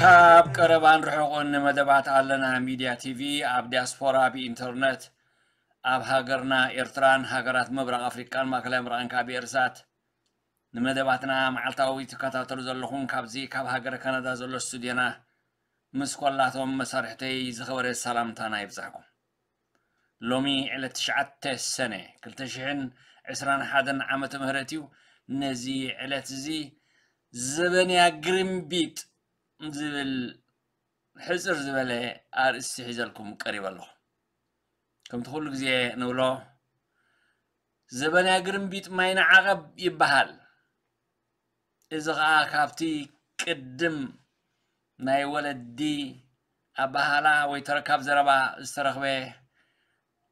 ካብ ቀረባን ርሑቕን ንመደባት ኣለና ሚድያ ቲቪ ኣብ ዲያስፖራ ብኢንተርነት ኣብ ሃገርና ኤርትራን ሃገራት ምብራቕ ኣፍሪቃን ማእከላይ ምብራቕን ካብ ኤርሳት ንመደባትና መዓልታዊ ትከታተሉ ዘለኹም ካብዚ ካብ ሃገረ ካናዳ ዘሎ ስቱድዮና ምስ ኮላቶም መሳርሕተይ ዝኸበረ ሰላምታና ይብጻሕኩም። ሎሚ ዕለት ትሽዓተ ሰነ ክልተ ሽሕን ዕስራን ሓደን ዓመተ ምህረት እዩ። ነዚ ዕለት እዚ ዘበንያ ግርምቢጥ ዝብል ሕጽር ዝበለ ኣርእስቲ ሒዘልኩም ቀሪበ ኣለኹ። ከምቲ ኩሉ ግዜ ንብሎ ዘበንያ ግርምቢጥ ማይ ንዓቐብ ይበሃል። እዚ ኸኣ ካብቲ ቅድም ናይ ወለዲ ኣባሃላ ወይ ተረካብ ዘረባ ዝተረኽበ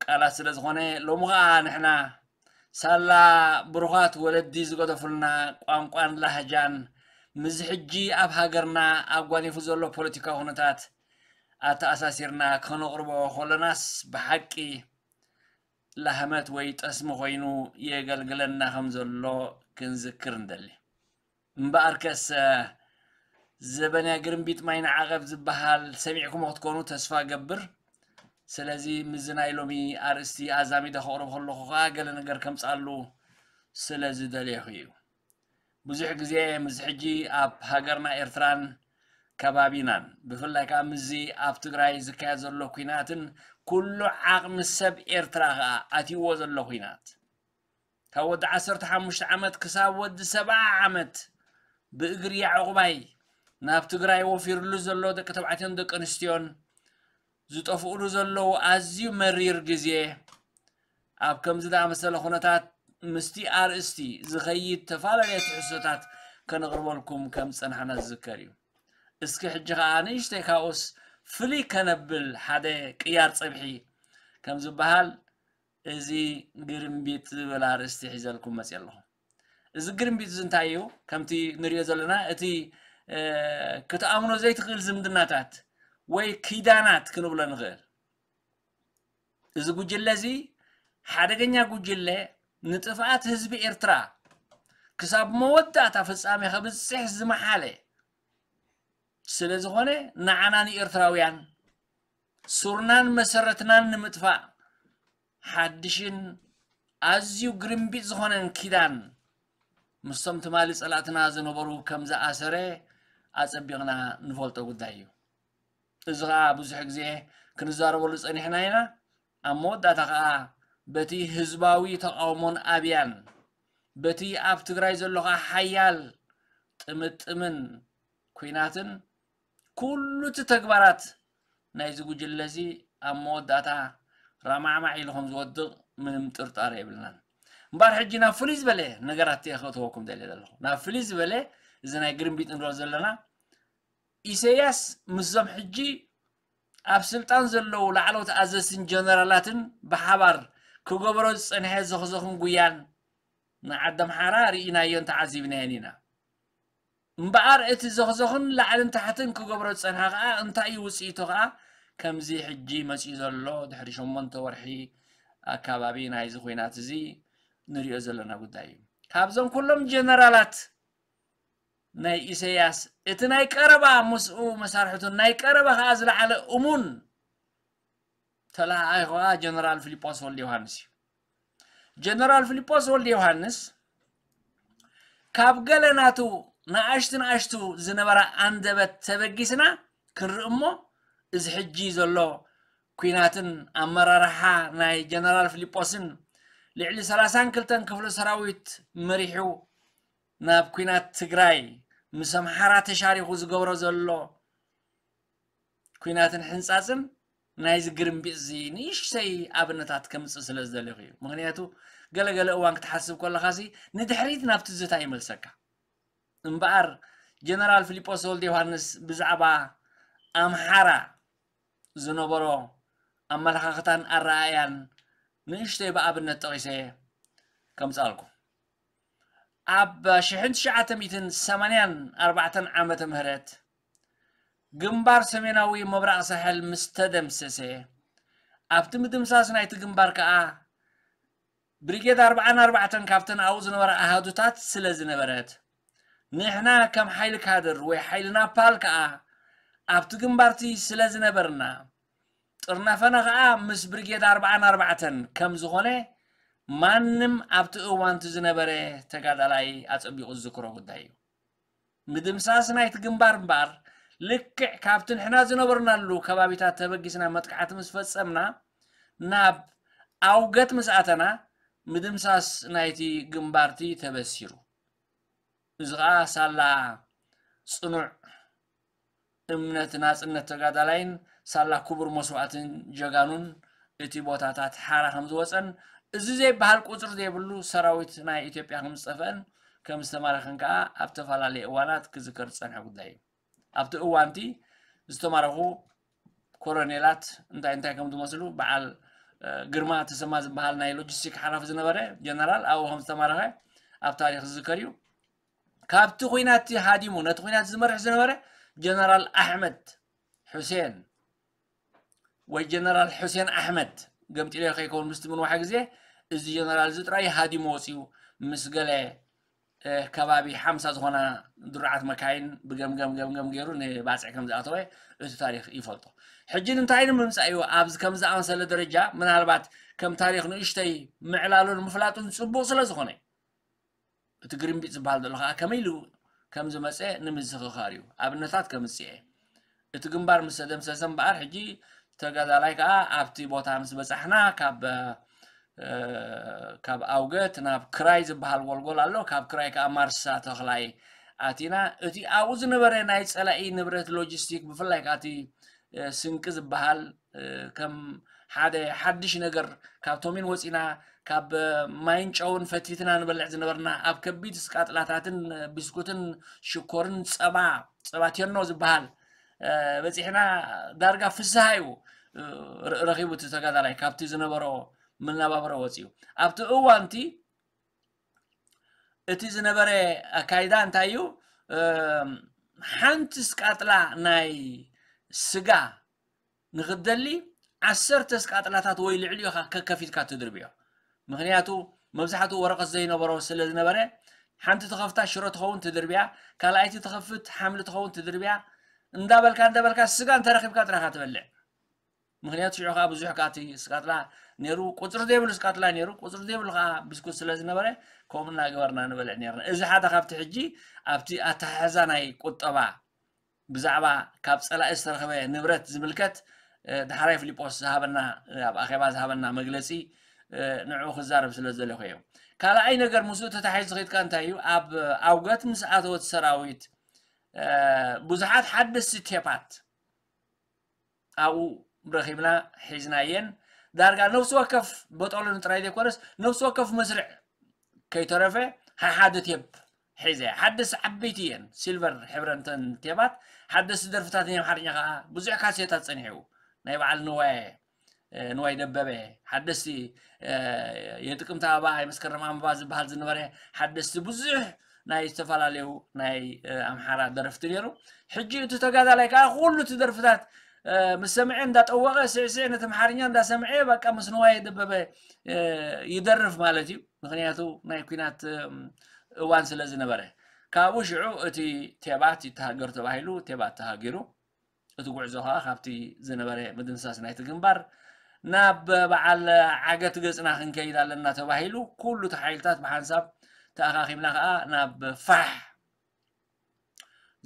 ቃላት ስለ ዝኾነ ሎሚ ኸኣ ንሕና ሳላ ብሩኻት ወለዲ ዝገደፉልና ቋንቋን ላህጃን ምስዚ ሕጂ ኣብ ሃገርና ኣጓኒፉ ዘሎ ፖለቲካዊ ኩነታት ኣተኣሳሲርና ከነቕርቦ ከለናስ ብሓቂ ላህመት ወይ ጠስሚ ኮይኑ የገልግለና ከም ዘሎ ክንዝክር ንደሊ። እምበኣርከስ ዘበንያ ግርምቢጥ ማይ ንዓቐብ ዝበሃል ሰሚዕኩሞ ክትኮኑ ተስፋ ገብር። ስለዚ ምስዚ ናይ ሎሚ ኣርእስቲ ኣዛሚደ ከቕርብ ከለኹ ኸኣ ገለ ነገር ከምጽኣሉ ስለ ዝደለኹ እዩ። ብዙሕ ግዜ ምስ ሕጂ ኣብ ሃገርና ኤርትራን ከባቢናን ብፍላይ ከኣ ምስዚ ኣብ ትግራይ ዝካየድ ዘሎ ኲናትን ኩሉ ዓቕሚ ሰብ ኤርትራ ከኣ ኣትይዎ ዘሎ ኲናት ካብ ወዲ ዓሰርተ ሓሙሽተ ዓመት ክሳብ ወዲ ሰብዓ ዓመት ብእግሪ ያዕቑባይ ናብ ትግራይ ወፊርሉ ዘሎ ደቂ ተባዕትዮን ደቂ ኣንስትዮን ዝጠፍኡሉ ዘለዉ ኣዝዩ መሪር ግዜ ኣብ ከምዚ ዝኣመሰለ ኩነታት ምስቲ ኣርእስቲ ዝኸይድ ተፈላለየ ትሕዝቶታት ከነቕርበልኩም ከም ዝጸናሕና ዝዝከር እዩ። እስኪ ሕጂ ኸኣ ንእሽተይ ካብኡስ ፍልይ ከነብል ሓደ ቅያር ጸብሒ ከም ዝበሃል እዚ ግርምቢጥ ዝብል ኣርእስቲ ሒዘልኩም መጽየ ኣለኹ። እዚ ግርምቢጥ እዚ እንታይ እዩ? ከምቲ ንሪኦ ዘለና እቲ ክትኣምኖ ዘይትኽእል ዝምድናታት ወይ ኪዳናት ክንብሎ ንኽእል። እዚ ጉጅለ እዚ ሓደገኛ ጉጅለ ንጥፍኣት ህዝቢ ኤርትራ ክሳብ መወዳእታ ፍጻሜ ከብጽሕ ዝመሓለ ስለ ዝኾነ ንዓና ንኤርትራውያን ሱርናን መሰረትናን ንምጥፋእ ሓድሽን ኣዝዩ ግርምቢጥ ዝኾነን ኪዳን ምስቶም ትማሊ ጸላእትና ዝነበሩ ከም ዝኣሰረ ኣጸቢቕና ንፈልጦ ጉዳይ እዩ። እዚ ኸኣ ብዙሕ ግዜ ክንዛረበሉ ጸኒሕና ኢና። ኣብ መወዳእታ ኸኣ በቲ ህዝባዊ ተቓውሞን ኣብያን በቲ ኣብ ትግራይ ዘሎ ኸኣ ሓያል ጥምጥምን ኲናትን ኩሉ እቲ ተግባራት ናይዚ ጉጅለ እዚ ኣብ መወዳእታ ራማዕማዕ ኢሉ ከም ዝወድቕ ምንም ጥርጣረ የብልናን። እምበኣር ሕጂ ናብ ፍሉይ ዝበለ ነገራት እየ ከእትወኩም ደልየ ዘለኹ። ናብ ፍሉይ ዝበለ እዚ ናይ ግርምቢጥ ንብሎ ዘለና ኢሰያስ ምስዞም ሕጂ ኣብ ስልጣን ዘለዉ ላዕለዎት ኣዘዝትን ጀነራላትን ብሓባር ክገብሮ ዝጸንሐ ዘኽዘኽን ጉያን ንዓዲ ኣምሓራ ርኢናዮን ተዓዚብናዮን ኢና። እምበኣር እቲ ዘኽዘኽን ላዕልን ታሕትን ክገብሮ ዝጸንሐ ከኣ እንታይ እዩ ውጽኢቱ ከኣ ከምዚ ሕጂ መጺኡ ዘሎ ድሕሪ ሸሞንተ ወርሒ ኣካባቢ ናይዚ ኹናት እዚ ንሪኦ ዘለና ጉዳይ እዩ። ካብዞም ኩሎም ጀነራላት ናይ ኢሰያስ እቲ ናይ ቀረባ ምስኡ መሳርሕቱን ናይ ቀረባ ከኣ ዝለዓለ እሙን ተለኣኣይ ከኣ ጀነራል ፊሊጶስ ወልደ ዮሃንስ እዩ። ጀነራል ፊሊጶስ ወልደ ዮሃንስ ካብ ገለ ናቱ ንኣሽቱ ንኣሽቱ ዝነበራ ኣንደበት ተበጊስና ክንርኢ እሞ እዚ ሕጂ ዘሎ ኲናትን ኣመራርሓ ናይ ጀነራል ፊሊጶስን ልዕሊ ሰላሳን ክልተን ክፍለ ሰራዊት መሪሑ ናብ ኲናት ትግራይ ምስ ኣምሓራ ተሻሪኹ ዝገብሮ ዘሎ ኲናትን ሕንጻጽን ናይዚ ግርምቢጥ እዚ ንእሽተይ ኣብነታት ከምጽእ ስለ ዝደለኹ እዩ። ምኽንያቱ ገለገለ እዋን ክትሓስብ ከለኻሲ ንድሕሪት ናብ ትዝታ ይመልሰካ። እምበኣር ጀነራል ፊሊጶስ ወልደ ዮሃንስ ብዛዕባ ኣምሓራ ዝነበሮ ኣመለኻኽታን ኣረኣእያን ንእሽተይ ብኣብነት ጠቒሰ ከምጻልኩም። ኣብ ሽሕን ትሽዓተ ሚእትን ሰማንያን ኣርባዕተን ዓመተ ምህረት ግንባር ሰሜናዊ ምብራቕ ሳሕል ምስ ተደምሰሰ ኣብቲ ምድምሳስ ናይቲ ግንባር ከኣ ብሪጌድ ኣርባዓን ኣርባዕተን ካብተን ኣብኡ ዝነበራ ኣሃዱታት ስለ ዝነበረት ንሕና ከም ሓይሊ ካድር ወይ ሓይሊ ናፓል ከኣ ኣብቲ ግንባርቲ ስለ ዝነበርና፣ ጥርናፈና ኸዓ ምስ ብርጌድ ኣርብዓን ኣርባዕተን ከም ዝኾነ ማንም ኣብቲ እዋንቲ ዝነበረ ተጋዳላይ ኣጸቢቑ ዝዝክሮ ጉዳይ እዩ። ምድምሳስ ናይቲ ግንባር እምበኣር፣ ልክዕ ካብቲ ንሕና ዝነበርናሉ ከባቢታት ተበጊስና መጥቃዕቲ ምስ ፈጸምና፣ ናብ ኣውገት ምስ ኣተና፣ ምድምሳስ ናይቲ ግንባርቲ ተበሲሩ። እዚ ኸዓ ሳላ ጽኑዕ እምነት ናጽነት ተጋዳላይን ሳላ ክቡር መስዋእትን ጀጋኑን እቲ ቦታታት ሓራ ከም ዝወጸን፣ እዚ ዘይበሃል ቁጽሪ ዘይብሉ ሰራዊት ናይ ኢትዮጵያ ከም ዝጠፍአን ከም ዝተማረኸን ከኣ ኣብ ተፈላለየ እዋናት ክዝከር ዝጸንሐ ጉዳይ እዩ። ኣብቲ እዋንቲ ዝተማረኹ ኮሎኔላት እንታይ እንታይ ከም ዝመስሉ በዓል ግርማ ተሰማ ዝበሃል ናይ ሎጂስቲክ ሓላፊ ዝነበረ ጀነራል ኣብኡ ከም ዝተማረኸ ኣብ ታሪኽ ዝዝከር እዩ። ካብቲ ኹናት ሃዲሙ ነቲ ኹናት ዝመርሕ ዝነበረ ጀነራል ኣሕመድ ሑሴን ወይ ጀነራል ሑሴን ኣሕመድ፣ ገምጢለ ከይከውን ምስቲ ምንዋሕ ግዜ፣ እዚ ጀነራል እዚ ጥራይ ሃዲሙ ወፂኡ ምስ ገለ ከባቢ ሓምሳ ዝኾና ድሩዓት መካይን ብገምገም ገምገም ገይሩ ንባፅዕ ከም ዝኣተወ እቲ ታሪክ ይፈልጦ። ሕጂ ንምንታይ ንምምፃእ እዩ ኣብዚ ከም ዝኣመሰለ ደረጃ ምናልባት ከም ታሪክ ንእሽተይ ምዕላሉን ምፍላጡን ፅቡቅ ስለ ዝኾነ፣ እቲ ግሪንቢት ዝበሃል ዘሎ ከዓ ከመይ ኢሉ ከም ዝመፀ ንምዝኽኻር እዩ። ኣብነታት ከምፅእ እየ። እቲ ግንባር ምስ ተደምሰሰ እምበኣር ሕጂ ተጋዳላይ ከዓ ኣብቲ ቦታ ምስ በፃሕና ካብ ካብ ኣውገት ናብ ክራይ ዝበሃል ጎልጎል ኣሎ። ካብ ክራይ ከዓ ማርሳ ተኽላይ ኣቲና። እቲ ኣብኡ ዝነበረ ናይ ፀላኢ ንብረት ሎጂስቲክ ብፍላይ ከዓ እቲ ስንቂ ዝበሃል ከም ሓደ ሓድሽ ነገር ካብ ቶሚን ወፂና ካብ ማይን ጨውን ፈትፊትና ንበልዕ ዝነበርና ኣብ ከቢድ ስቃጥላታትን ብስኩትን ሽኮርን ፀባ ፀባ ቴኖ ዝበሃል በፂሕና ዳርጋ ፍስሃ እዩ ረኺቡ እቲ ተጋዳላይ ካብቲ ዝነበሮ መናባብሮ ወፂኡ ኣብቲ እዋንቲ እቲ ዝነበረ ኣካይዳ እንታይ እዩ ሓንቲ ስቃጥላ ናይ ስጋ ንክትደሊ ዓሰርተ ስቃጥላታት ወይ ልዕሊኡ ኢኻ ከከፊትካ ትድርብዮ ምክንያቱ መብዛሕትኡ ወረቀት ዘይነበሮ ስለ ዝነበረ ሓንቲ ተኸፍታ ሽሮ ትኸውን ትድርብያ ካልኣይቲ ተኸፍት ሓምሊ ትኸውን ትድርብያ እንዳበልካ እንዳበልካ ስጋ እንተረኺብካ ጥራኻ ትበልዕ ምክንያቱ ሽዑ ከዓ ብዙሕ ካቲ ስቃጥላ ነይሩ ቁፅሪ ዘይብሉ ስቃጥላ ነይሩ ቁፅሪ ዘይብሉ ከዓ ብስኩት ስለ ዝነበረ ከምኡ እናገበርና ንበልዕ ነርና እዚ ሓደ ካብቲ ሕጂ ኣብቲ ኣተሓሕዛ ናይ ቁጠባ ብዛዕባ ካብ ፀላኢ ዝተረኸበ ንብረት ዝምልከት ዳሕራይ ፊሊጶስ ዝሃበና ኣብ ኣኼባ ዝሃበና መግለፂ ንዕኡ ክዛረብ ስለ ዝደለኹ እየ ካልኣይ ነገር ምስኡ ተታሒዙ ዝኸድካ እንታይ እዩ ኣብ ኣውገት ምስ ኣተወት ሰራዊት ብዙሓት ሓደስቲ ቴፓት ኣብኡ ረኺብና ሒዝናየን ዳርጋ ነፍሲ ወከፍ በጠሉን ጥራይ ዘይኮነስ ነፍሲ ወከፍ መስርዕ ከይተረፈ ሓሓደ ቴፕ ሒዘ ሓደስ ዓበይቲ እየን ሲልቨር ሕብረንተን ቴባት ሓደስ ደርፍታት ናይ ኣምሓርኛ ከዓ ብዙሕ ካሴታት ፀኒሑ ናይ በዓል ንዋየ ንዋይ ደበበ ሓደስቲ የጥቅምቲ ኣበባ የመስከረም ኣንበባ ዝበሃል ዝነበረ ሓደስቲ ብዙሕ ናይ ዝተፈላለዩ ናይ ኣምሓራ ደረፍቲ ነይሩ ሕጂ እቲ ተጋዳላይ ከዓ ኩሉ እቲ ደርፍታት ምስ ሰምዐ እንዳጠወቐ ስዕስዕ ነቲ ኣምሓርኛ እንዳሰምዐ በቃ ምስ ንዋየ ደበበ ይደርፍ ማለት እዩ ምክንያቱ ናይ ኩናት እዋን ስለ ዝነበረ ካብኡ ሽዑ እቲ ቴባት ይተሃገር ተባሂሉ ቴባት ተሃጊሩ እቲ ጉዕዞ ከዓ ካብቲ ዝነበረ ምድምሳስ ናይቲ ግንባር ናብ በዓል ዓገት ገፅና ክንከይድ ኣለና ተባሂሉ ኩሉ እቲ ሓይልታት ብሓንሳብ ተኣኻኺብና ከዓ ናብ ፋሕ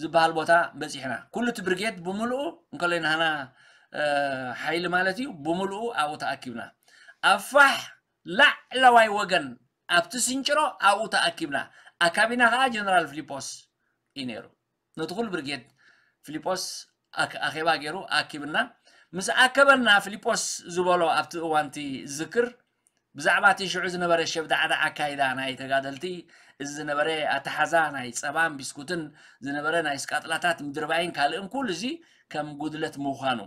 ዝበሃል ቦታ በፂሕና ኩሉ እቲ ብርጌድ ብምልኡ እንከሎ ናህና ሓይሊ ማለት እዩ ብምልኡ ኣብኡ ተኣኪብና ኣብ ፋሕ ላዕለዋይ ወገን ኣብቲ ስንጭሮ ኣብኡ ተኣኪብና ኣካቢና ከዓ ጀነራል ፊሊጶስ እዩ ነይሩ ነቲ ኩሉ ብርጌድ ፊሊጶስ ኣኼባ ገይሩ ኣኪብና ምስ ኣከበና ፊሊጶስ ዝበሎ ኣብቲ እዋንቲ ዝክር ብዛዕባ እቲ ሽዑ ዝነበረ ሸብዳዕዳ ኣካይዳ ናይ ተጋደልቲ እዚ ዝነበረ ኣተሓዛ ናይ ፀባን ቢስኩትን ዝነበረ ናይ ስቃጥላታት ምድርባይን ካልእን ኩሉ እዚ ከም ጉድለት ምዃኑ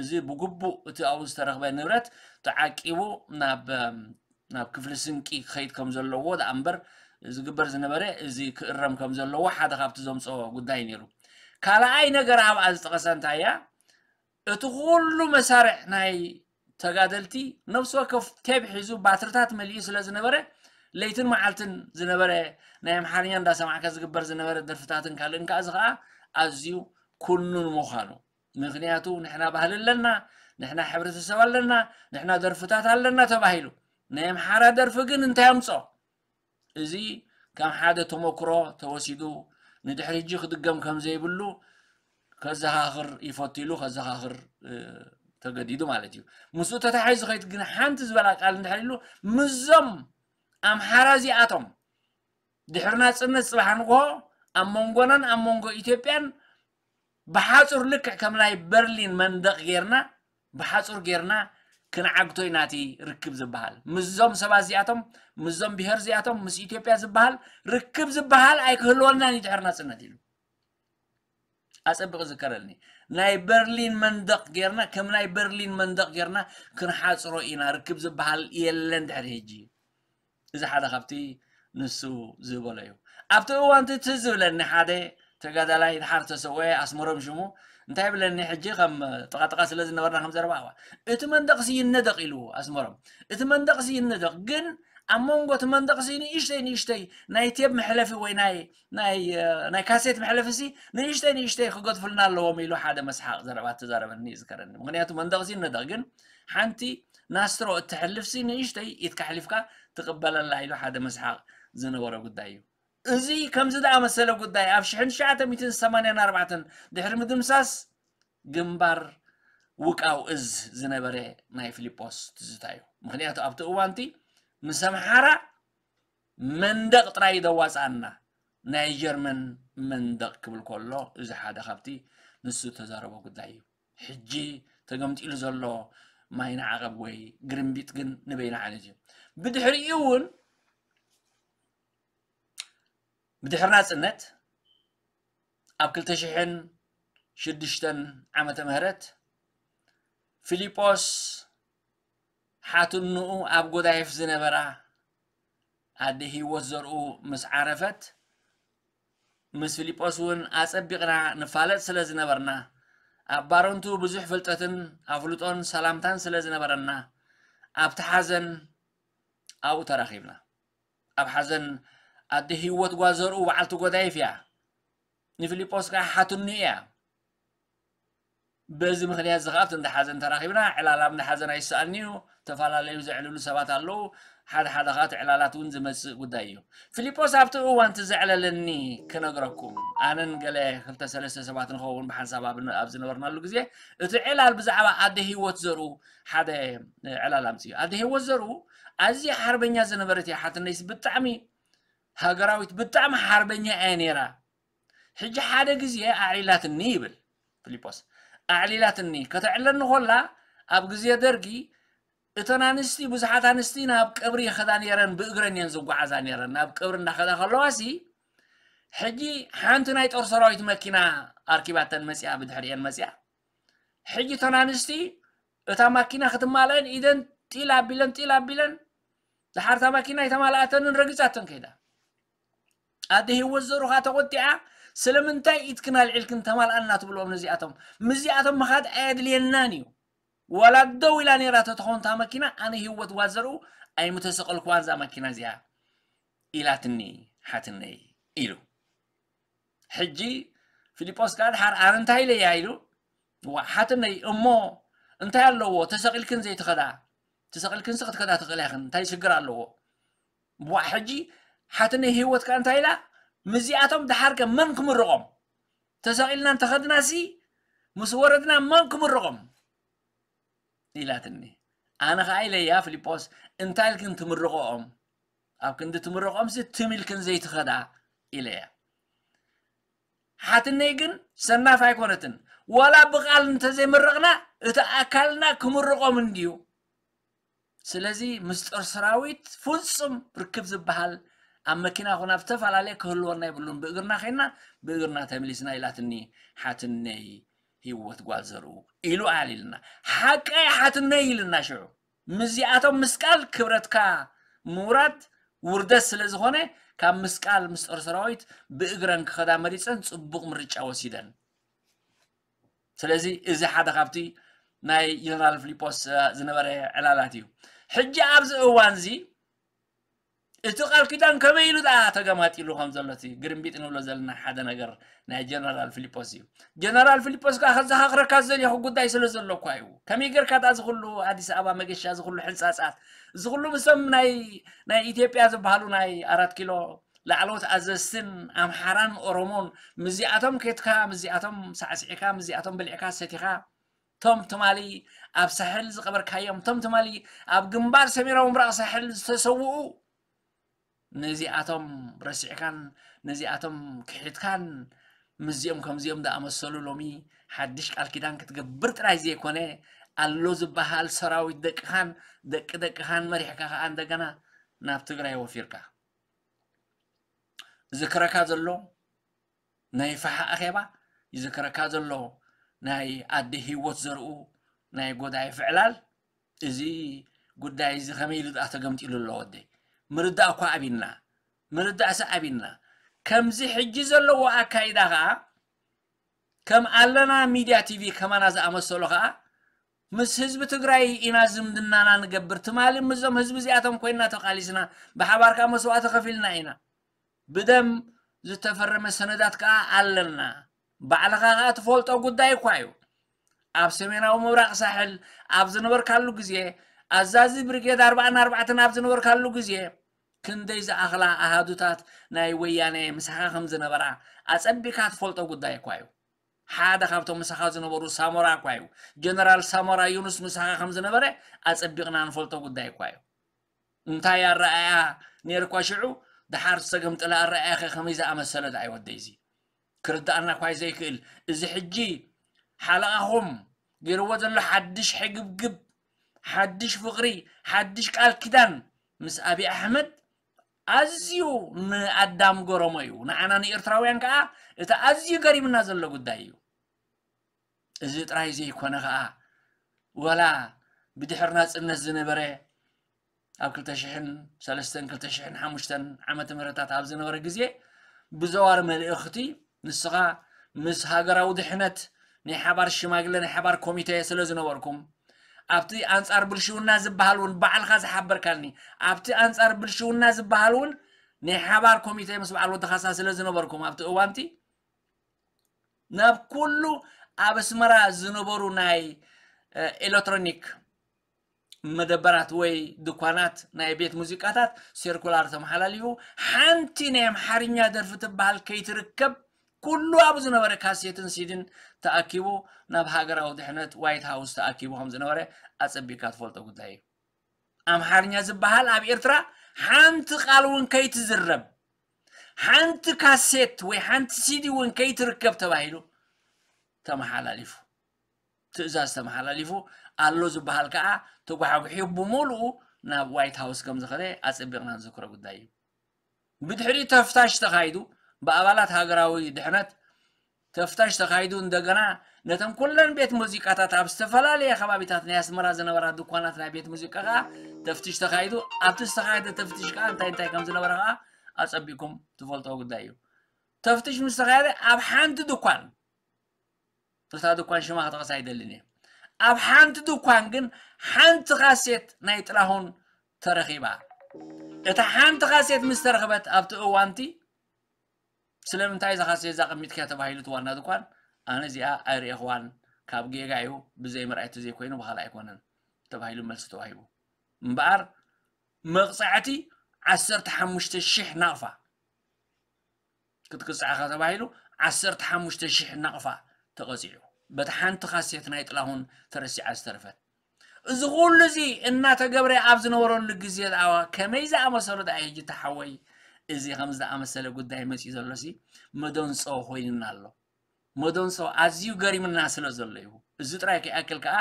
እዚ ብግቡእ እቲ ኣብኡ ዝተረኽበ ንብረት ተዓቂቡ ናብ ናብ ክፍሊ ስንቂ ክኸይድ ከም ዘለዎ ደኣ እምበር ዝግበር ዝነበረ እዚ ክእረም ከም ዘለዎ ሓደ ካብቲ ዘምፅኦ ጉዳይ ነይሩ ካልኣይ ነገር ኣብኣ ዝጠቐሰ እንታይ እያ እቲ ኩሉ መሳርዕ ናይ ተጋደልቲ ነፍሲ ወከፍ ቴብ ሒዙ ባትርታት መሊኡ ስለ ዝነበረ ለይትን መዓልትን ዝነበረ ናይ ኣምሓርኛ እንዳሰማዕካ ዝግበር ዝነበረ ደርፍታትን ካልእን ከዓ እዚ ከዓ ኣዝዩ ኩኑን ምዃኑ ምኽንያቱ ንሕና ባህሊ ኣለና፣ ንሕና ሕብረተሰብ ኣለና፣ ንሕና ደርፍታት ኣለና ተባሂሉ። ናይ ኣምሓራ ደርፊ ግን እንታይ ኣምጾ? እዚ ከም ሓደ ተመክሮ ተወሲዱ ንድሕሪ ሕጂ ክድገም ከም ዘይብሉ ከዘኻኽር ይፈቱ ኢሉ ከዘኻኽር ተገዲዱ ማለት እዩ። ምስኡ ተታሒዙ ከይት ግን ሓንቲ ዝበላ ቃል እንድሕር ኢሉ ምስዞም ኣምሓራ እዚኣቶም ድሕሪ ናጽነት ጽባሕ ንግሆ ኣብ መንጎናን ኣብ መንጎ ኢትዮጵያን ብሓጹር ልክዕ ከም ናይ በርሊን መንደቕ ጌርና ብሓጹር ጌርና ክንዓግቶ ኢና እቲ ርክብ ዝበሃል ምስዞም ሰባት እዚኣቶም ምስዞም ብሄር እዚኣቶም ምስ ኢትዮጵያ ዝበሃል ርክብ ዝበሃል ኣይክህልወልናን እዩ ድሕሪ ናጽነት ኢሉ። ኣጸብቕ ዝከረልኒ ናይ በርሊን መንደቕ ጌርና ከም ናይ በርሊን መንደቕ ጌርና ክንሓጽሮ ኢና ርክብ ዝበሃል የለን ድሕሪ ሕጂ። እዚ ሓደ ካብቲ ንሱ ዝበሎ እዩ። ኣብቲ እዋንቲ ትዝ ዝብለኒ ሓደ ተጋዳላይ ድሓር ተሰወ ኣስመሮም ሽሙ እንታይ ብለኒ ሕጂ ከም ጥቓጥቓ ስለ ዝነበርና ከም ዘረባ እዋ እቲ መንደቕሲ ይነደቕ ኢሉ ኣስመሮም እቲ መንደቕሲ ይነደቕ ግን ኣብ መንጎ እቲ መንደቕሲ ንእሽተይ ንእሽተይ ናይ ቴብ መሕለፊ ወይ ናይ ናይ ናይ ካሴት መሕለፊሲ ንእሽተይ ንእሽተይ ክገድፉልና ኣለዎም ኢሉ ሓደ መስሓቕ ዘረባ ተዛረበኒ ይዝከረኒ። ምክንያቱ መንደቕሲ ይነደቕ ግን ሓንቲ ናስትሮ እትሕልፍሲ ንእሽተይ ኢትካ ኣሕሊፍካ ትቕበለላ ኢሉ ሓደ መስሓቕ ዝነበሮ ጉዳይ እዩ። እዚ ከምዚ ዝኣመሰለ ጉዳይ ኣብ ሽሕን ትሽዓተ ሚእትን ሰማንያን ኣርባዕተን ድሕሪ ምድምሳስ ግንባር ውቃው እዝ ዝነበረ ናይ ፊሊጶስ ትዝታ እዩ። ምክንያቱ ኣብቲ እዋንቲ ምስ ኣምሓራ መንደቕ ጥራይ ደዋፃና ናይ ጀርመን መንደቕ ክብል ከሎ እዚ ሓደ ካብቲ ንሱ ተዛረቦ ጉዳይ እዩ። ሕጂ ተገምጢሉ ዘሎ ማይ ንዓቐብ ወይ ግርምቢጥ ግን ንበይና ዓይነት እዩ። ብድሕሪኡ እውን ብድሕሪ ናፅነት ኣብ ክልተ ሽሕን ሽዱሽተን ዓመተ ምህረት ፊሊጶስ ሓትንኡ ኣብ ጎዳይፍ ዝነበራ ኣደ ህይወት ዘርኡ ምስ ዓረፈት ምስ ፊሊጶስ እውን ኣጸቢቕና ንፋለጥ ስለ ዝነበርና ኣብ ባረንቱ ብዙሕ ፍልጠትን ኣፍልጦን ሰላምታን ስለ ዝነበረና ኣብቲ ሓዘን ኣብኡ ተራኺብና። ኣብ ሓዘን ኣደ ህይወት ጓል ዘርኡ በዓልቲ ጎዳይፍ እያ። ንፊልጶስ ከኣ ሓትኑ እያ። በዚ ምኽንያት እዚ ከኣ ኣብቲ እንዳ ሓዘን ተራኺብና። ዕላል ኣብ እንዳ ሓዘን ኣይሰኣንን'ዩ። ዝተፈላለዩ ዘዕልሉ ሰባት ኣለዉ። ሓደ ሓደ ከኣ እቲ ዕላላት እውን ዝመጽእ ጉዳይ እዩ። ፊልጶስ ኣብቲ እዋን እቲ ዘዕለለኒ ክነግረኩም፣ ኣነን ገለ ክልተ ሰለስተ ሰባት ንኸውን ብሓንሳብ ኣብ ኣብ ዝነበርናሉ ግዜ፣ እቲ ዕላል ብዛዕባ ኣደ ህይወት ዘርኡ ሓደ ዕላል ኣምጺኡ። ኣደ ህይወት ዘርኡ ኣዝያ ሓርበኛ ዝነበረት እያ። ሓትነይስ ብጣዕሚ ሃገራዊት ብጣዕሚ ሓርበኛ እያ ነይራ። ሕጂ ሓደ ግዜ ኣዕሊላትኒ ይብል ፊልጶስ። ኣዕሊላትኒ ከተዕለኒ ኮላ ኣብ ግዜ ደርጊ እተን ኣንስቲ ብዙሓት ኣንስቲ ናብ ቀብሪ ይኸዳ ነይረን ብእግረን እየን ዝጓዓዛ ነይረን ናብ ቀብሪ እንዳኸዳ ከለዋሲ ሕጂ ሓንቲ ናይ ጦር ሰራዊት መኪና ኣርኪባተን መፅያ ብድሕሪአን መፅያ ሕጂ እተን ኣንስቲ እታ ማኪና ክትማልአን ኢደን ጢል ኣቢለን ጢል ኣቢለን ድሓር እታ ማኪና ኣይተማልኣተንን ረጊፃተን ከይዳ ኣደ ህይወት ዘሩኻ ተቆጢዓ ስለምንታይ ኢትክን ኣልዒልክን ተማልኣና ትብልኦም ነዚኣቶም ምስዚኣቶም ምኻድ ኣየድልየናን እዩ ዋላ ደው ኢላ ነይራ ተተኾንታ መኪና ኣነ ህይወት ጓዘርኡ ኣይምተሰቐልኩዋን ዛ መኪና እዚኣ ኢላትኒ ሓትነይ ኢሉ ሕጂ ፊልጶስ ከዓ ድሓር ኣነ እንታይ ኢለያ ኢሉ ሓትነይ እሞ እንታይ ኣለዎ ተሰቒልክን ዘይትኸዳ ተሰቒልክንሲ ክትከዳ ትኽእላ ኢኽን እንታይ ሽግር ኣለዎ ዋዕ ሕጂ ሓትነይ ህይወት ከ እንታይ ኢላ ምስዚኣቶም ድሓር ከ መን ክምርቖም ተሰቒልና እንተኸድናሲ ምስ ወረድና መን ክምርቖም ኢላትኒ ኣነ ኸዓ ኢለያ ፊልጶስ እንታይ ኢልክን ትምርቐኦም ኣብ ክንዲ ትምርቐኦምሲ ትም ኢልክን ዘይትኸዳ ኢለያ ሓትነይ ግን ሰናፍ ኣይኮነትን ዋላ ብቓል እንተዘይምረቕና እቲ ኣካልና ክምርቖም እንድዩ ስለዚ ምስ ጦር ሰራዊት ፍጹም ርክብ ዝበሃል ኣብ መኪና ኮና ኣብ ዝተፈላለየ ክህልወና የብሉን ብእግርና ኸይና ብእግርና ተመሊስና ኢላትኒ ሓትነይ ህይወት ጓል ዘርኡ ኢሉ ኣዕሊልና ሓቀይ ሓትነይ ኢልና ሽዑ ምስዚኣቶም ምስቃል ክብረትካ ምውራድ ውርደት ስለ ዝኾነ ካብ ምስቃል ምስ ጦር ሰራዊት ብእግረን ክኸዳ መሪፀን ፅቡቕ ምርጫ ወሲደን ስለዚ እዚ ሓደ ካብቲ ናይ ጀነራል ፊሊጶስ ዝነበረ ዕላላት እዩ ሕጂ ኣብዚ እዋን እዚ እቲ ቃል ኪዳን ከመይ ኢሉ ደኣ ተገማጢሉ ከም ዘሎ እቲ ግርምቢጥ ንብሎ ዘለና ሓደ ነገር ናይ ጀነራል ፊሊጶስ እዩ። ጀነራል ፊሊጶስ ከኣ ከዘኻኽረካ ዝደልየኹ ጉዳይ ስለ ዘሎ እኳ እዩ። ከመይ ጌርካ ደኣ እዚ ኩሉ ኣዲስ ኣበባ መገሻ፣ እዚ ኩሉ ሕንጻጻት፣ እዚ ኩሉ ምስቶም ናይ ናይ ኢትዮጵያ ዝበሃሉ ናይ ኣራት ኪሎ ላዕለዎት ኣዘዝትን ኣምሓራን ኦሮሞን ምስዚኣቶም ኬድካ፣ ምስዚኣቶም ሳዕሲዕካ፣ ምስዚኣቶም በሊዕካ ሰቲኻ፣ ቶም ትማሊ ኣብ ሳሕል ዝቐበርካዮም፣ ቶም ትማሊ ኣብ ግንባር ሰሜናዊ ምብራቕ ሳሕል ዝተሰውኡ፣ ነዚኣቶም ረሲዕካን ነዚኣቶም ክሒድካን ምስዚኦም ከምዚኦም ዝኣመሰሉ ሎሚ ሓድሽ ቃል ኪዳን ክትገብር ጥራይ ዘይኮነ፣ ኣሎ ዝበሃል ሰራዊት ደቅኻን ደቂ ደቅኻን መሪሕካ ከኣ እንደገና ናብ ትግራይ ወፊርካ። ዝክረካ ዘሎ ናይ ፋሓ ኣኼባ፣ ይዝክረካ ዘሎ ናይ ኣደ ህይወት ዘርኡ ናይ ጎዳይ ፍዕላል፣ እዚ ጉዳይ እዚ ከመይ ኢሉ ደኣ ተገምጢሉ ኣሎ ወደይ? ምርዳእ እኳ ኣቢና፣ ምርዳእሲ ኣቢና። ከምዚ ሕጂ ዘለዎ ኣካይዳ ከኣ፣ ከም ኣለና ሚድያ ቲቪ ከማና ዝኣመሰሉ ከኣ፣ ምስ ህዝቢ ትግራይ ኢና ዝምድናና ንገብር። ትማሊ ምስዞም ህዝቢ እዚኣቶም ኮይንና ተቃሊስና፣ ብሓባር ከኣ መስዋእቲ ከፊልና ኢና። ብደም ዝተፈረመ ሰነዳት ከኣ ኣለና። ባዕልኻ ከኣ ትፈልጦ ጉዳይ እኳ እዩ። ኣብ ሰሜናዊ ምብራቕ ሳሕል ኣብ ዝነበርካሉ ግዜ፣ ኣዛዚ ብሪጌድ ኣርባዓን ኣርባዕተን ኣብ ዝነበርካሉ ግዜ፣ ክንደይ ዝኣኽላ ኣሃዱታት ናይ ወያነ ምሳኻ ከም ዝነበራ ኣጸቢካ ትፈልጦ ጉዳይ እኳ እዩ። ሓደ ካብቶም ምሳኻ ዝነበሩ ሳሞራ እኳ እዩ። ጀነራል ሳሞራ ዩኑስ ምሳኻ ከም ዝነበረ ኣጸቢቕና ንፈልጦ ጉዳይ እኳ እዩ። እንታይ ኣረኣእያ ነይርኳ ሽዑ፣ ደሓር ዝተገምጠለ ኣረኣእያ ከ ከመይ ዝኣመሰለ ደኣ እዩ ወደይ እዚ? ክርዳኣና እኳ እዩ ዘይክእል። እዚ ሕጂ ሓለቓኹም ገይርዎ ዘሎ ሓድሽ ሕግብግብ፣ ሓድሽ ፍቕሪ፣ ሓድሽ ቃል ኪዳን ምስ ኣብይ ኣሕመድ ኣዝዩ ንኣዳም ገረሞ እዩ። ንዓና ንኤርትራውያን ከኣ እቲ ኣዝዩ ገሪምና ዘሎ ጉዳይ እዩ። እዚ ጥራይ ዘይኮነ ከኣ፣ ወላ ብድሕሪ ናጽነት ዝነበረ ኣብ ክልተ ሽሕን ሰለስተን ክልተ ሽሕን ሓሙሽተን ዓመተ ምህረታት ኣብ ዝነበረ ግዜ ብዘዋር መልእኽቲ ንስኻ ምስ ሃገራዊ ድሕነት ናይ ሓባር ሽማግለ ናይ ሓባር ኮሚቴ ስለ ዝነበርኩም ኣብቲ ኣንጻር ብልሽውና ዝበሃል እውን ባዕልኻ ዝሓበርካኒ ኣብቲ ኣንጻር ብልሽውና ዝበሃል እውን ናይ ሓባር ኮሚቴ ምስ በዓል ወዲ ካሳ ስለ ዝነበርኩም ኣብቲ እዋንቲ ናብ ኩሉ ኣብ ኣስመራ ዝነበሩ ናይ ኤሌክትሮኒክ መደበራት ወይ ድኳናት ናይ ቤት ሙዚቃታት ሴርኩላር ተመሓላሊፉ ሓንቲ ናይ ኣምሓርኛ ደርፊ ትበሃል ከይትርከብ ኩሉ ኣብ ዝነበረ ካሴትን ሲድን ተኣኪቡ ናብ ሃገራዊ ድሕነት ዋይት ሃውስ ተኣኪቡ ከም ዝነበረ ኣጸቢካ ትፈልጦ ጉዳይ እዩ። ኣምሓርኛ ዝበሃል ኣብ ኤርትራ ሓንቲ ቃል እውን ከይትዝረብ ሓንቲ ካሴት ወይ ሓንቲ ሲዲ እውን ከይትርከብ ተባሂሉ ተመሓላሊፉ ትእዛዝ ተመሓላሊፉ ኣሎ ዝበሃል ከዓ ተጓሕጉሑ ብምሉኡ ናብ ዋይት ሃውስ ከም ዝኸደ ኣጸቢቕና ንዝክሮ ጉዳይ እዩ። ብድሕሪ ተፍታሽ ተኻይዱ ብኣባላት ሃገራዊ ድሕነት ተፍታሽ ተኻይዱ እንደገና ነተን ኩለን ቤት ሙዚቃታት ኣብ ዝተፈላለየ ከባቢታት ናይ ኣስመራ ዝነበራ ድኳናት ናይ ቤት ሙዚቃ ከዓ ተፍትሽ ተኻይዱ ኣብቲ ዝተኻየደ ተፍትሽ ከዓ እንታይ እንታይ ከም ዝነበረ ከዓ ኣፀቢኩም ትፈልጥዎ ጉዳይ እዩ። ተፍትሽ ምስ ተኻየደ ኣብ ሓንቲ ድኳን እታ ድኳን ሽማ ክጠቕሳ ኣይደልን እየ ኣብ ሓንቲ ድኳን ግን ሓንቲ ካሴት ናይ ጥላሁን ተረኺባ እታ ሓንቲ ካሴት ምስ ተረኽበት ኣብቲ እዋንቲ ስለምንታይ እዛ ካሴት እዛ ቀሚጥክያ ተባሂሉ እቲ ዋና ድኳን ኣነ እዚኣ ኣይርእየኽዋን ካብ ጌጋ እዩ ብዘይ ምርኣይ ተዘይኮይኑ ብኻልእ ኣይኮነን ተባሂሉ መልሲ ተዋሂቡ እምበኣር መቕፃዕቲ ዓሰርተ ሓሙሽተ ሽሕ ናቕፋ ክትቅፃዕኻ ተባሂሉ ዓሰርተ ሓሙሽተ ሽሕ ናቕፋ ተቐፂዑ በቲ ሓንቲ ካሴት ናይ ጥላሁን ተረሲዓ ዝተረፈት እዚ ኩሉ እዚ እናተገብረ ኣብ ዝነበረሉ ግዜ ደኣ ከመይ ዝኣመሰሉ ደኣ ሕጂ ተሓወይ እዚ ከም ዝኣመሰለ ጉዳይ መፂኡ ዘሎ ሲ መደንፆ ኮይንና ኣሎ መደንፆ ኣዝዩ ገሪምና ስለ ዘሎ እዩ እዚ ጥራይ ከይኣክል ከዓ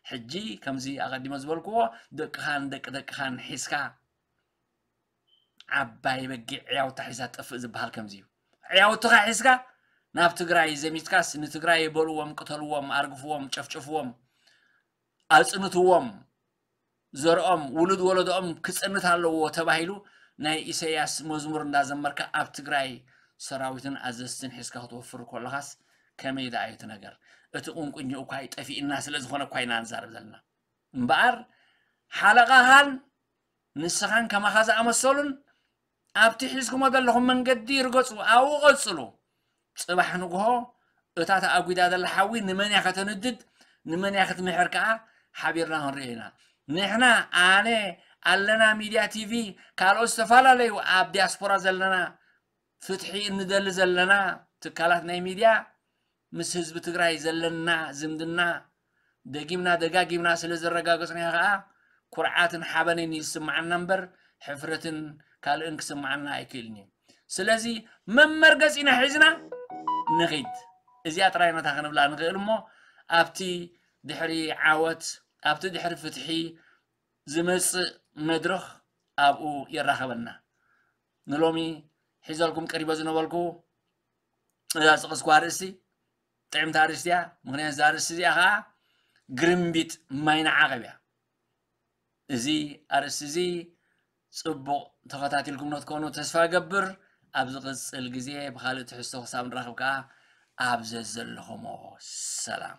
ሕጂ ከምዚ ኣቐዲመ ዝበልክዎ ደቅኻን ደቂ ደቅኻን ሒዝካ ዓባይ በጊዕ ዕያውታ ሒዛ ትጠፍእ ዝበሃል ከምዚ እዩ። ዕያውትኻ ሒዝካ ናብ ትግራይ ዘሚትካስ ንትግራይ በልዎም፣ ቅተልዎም፣ ኣርግፍዎም፣ ጨፍጭፍዎም፣ ኣፅንትዎም፣ ዘርኦም ውሉድ ወለዶኦም ክፅንት ኣለዎ ተባሂሉ ናይ ኢሰያስ መዝሙር እንዳዘመርካ ኣብ ትግራይ ሰራዊትን ኣዘዝትን ሒዝካ ክትወፍር ከለኻስ ከመይ ደኣ እዩ እቲ ነገር? እቲ ቁንቁኝ እኳ ጠፊእና ስለ ዝኾነ እኳ ኢና ንዛረብ ዘለና። እምበኣር ሓለቓኻን ንስኻን ከማኻ ዝኣመሰሉን ኣብቲ ሒዝኩሞ ዘለኹም መንገዲ ርገጹ፣ ኣብኡ ቀጽሉ። ጽባሕ ንግሆ እታ ተኣጒዳ ዘላ ሓዊ ንመን እያ ከተንድድ፣ ንመን እያ ክትምሕር ከኣ ሓቢርና ክንሪኦ ኢና። ንሕና፣ ኣነ፣ ኣለና ሚድያ ቲቪ፣ ካልኦት ዝተፈላለዩ ኣብ ዲያስፖራ ዘለና ፍትሒ እንደሊ ዘለና ትካላት ናይ ሚድያ ምስ ህዝቢ ትግራይ ዘለና ዝምድና ደጊምና ደጋጊምና ስለ ዘረጋገጽናዮ ከኣ ኩርዓትን ሓበንን እዩ ዝስምዓና እምበር ሕፍረትን ካልእን ክስምዓና ኣይክእልን እዩ። ስለዚ መመርገጺና ሒዝና ንኺድ። እዚኣ ጥራይ ነታ ክንብላ ንኽእል እሞ ኣብቲ ድሕሪ ዓወት፣ ኣብቲ ድሕሪ ፍትሒ ዝመጽእ መድረኽ ኣብኡ የራኸበና። ንሎሚ ሒዘልኩም ቀሪበ ዝነበልኩ እዛ ዝጠቐስኩ ኣርእስቲ ጥዕምቲ ኣርእስቲ እያ። ምኽንያት እዛ ኣርእስቲ እዚኣ ኸዓ ግርምቢጥ ማይ ንዓቐብ እያ። እዚ ኣርእስቲ እዚ ጽቡቕ ተኸታቲልኩም ክትኮኑ ተስፋ እገብር። ኣብ ዝቕጽል ግዜ ብኻልእ ትሕዝቶ ክሳብ ንራኸብ ከኣ ኣብ ዘዘለኹሞ ሰላም።